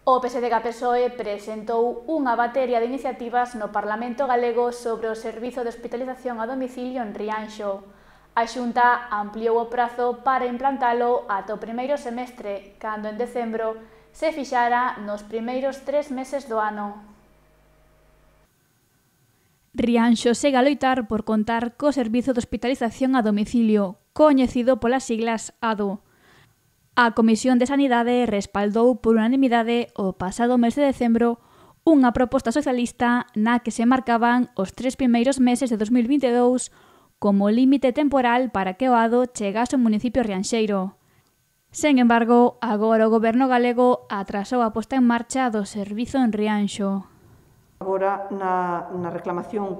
O PSDG-PSOE presentou unha batería de iniciativas no Parlamento galego sobre o servizo de hospitalización a domicilio en Rianxo. A Xunta ampliou o prazo para implantalo ata o primeiro semestre, cando en decembro se fixara nos primeiros 3 meses do ano. Rianxo segue a loitar por contar co servizo de hospitalización a domicilio, coñecido polas siglas ADO. A Comisión de Sanidade respaldou por unanimidade o pasado mes de decembro unha proposta socialista na que se marcaban os 3 primeiros meses de 2022 como límite temporal para que o ADO chegase ao municipio rianxeiro. Sen embargo, agora o Goberno galego atrasou a posta en marcha do servizo en Rianxo. Agora, na reclamación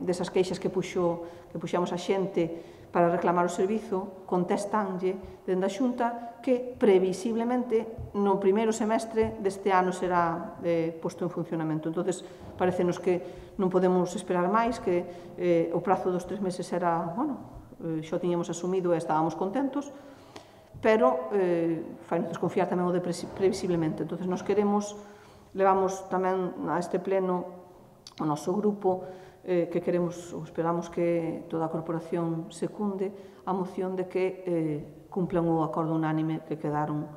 desas queixas que puxamos a xente para reclamar o servizo, contestanlle dende a Xunta que previsiblemente no primeiro semestre deste ano será posto en funcionamento. Entón, parecenos que non podemos esperar máis, que o prazo dos 3 meses era, xa o tiñamos asumido e estábamos contentos, pero fai-nos desconfiar tamén o de previsiblemente. Entón, nos levamos tamén a este pleno o noso grupo que queremos ou esperamos que toda a corporación secunde a moción de que cumplan o acordo unánime que quedaron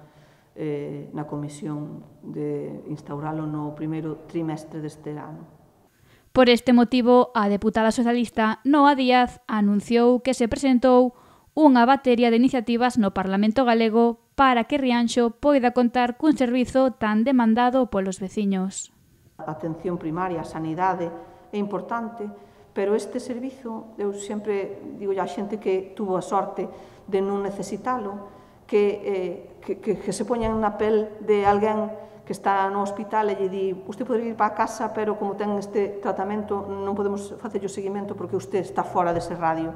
na comisión de instauralo no primeiro trimestre deste ano. Por este motivo, a deputada socialista Noa Díaz anunciou que se presentou unha batería de iniciativas no Parlamento galego para que Rianxo poida contar cun servizo tan demandado polos veciños. A atención primaria, a sanidade, é importante, pero este servizo, eu sempre digo a xente que tuvo a sorte de non necesitalo, que se poñan na pel de alguén que está no hospital e lle di usted pode ir para a casa, pero como ten este tratamento non podemos facerlle o seguimento porque usted está fora dese radio.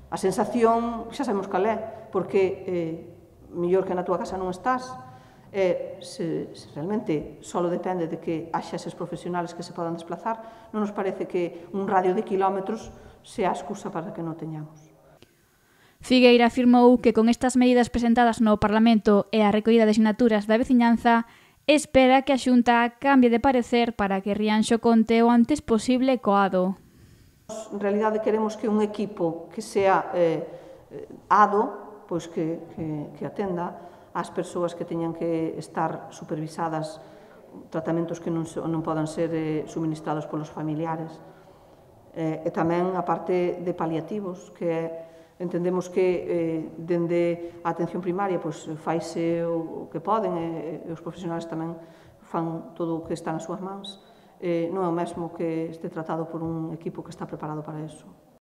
A sensación, xa sabemos cal é, porque mellor que na túa casa non estás, se realmente só depende de que haxa eses profesionales que se podan desplazar, non nos parece que un radio de kilómetros sea a excusa para que non teñamos. Figueira afirmou que con estas medidas presentadas no Parlamento e a recollida de sinaturas da veciñanza, espera que a Xunta cambie de parecer para que Rianxo conte o antes posible co ADO. En realidade queremos que un equipo que sea ADO, pois que atenda ás persoas que teñan que estar supervisadas, tratamentos que non podan ser suministrados polos familiares. E tamén a parte de paliativos, que entendemos que dende a atención primaria faise o que poden e os profesionais tamén fan todo o que está nas súas mans. Non é o mesmo que este tratado por un equipo que está preparado para iso.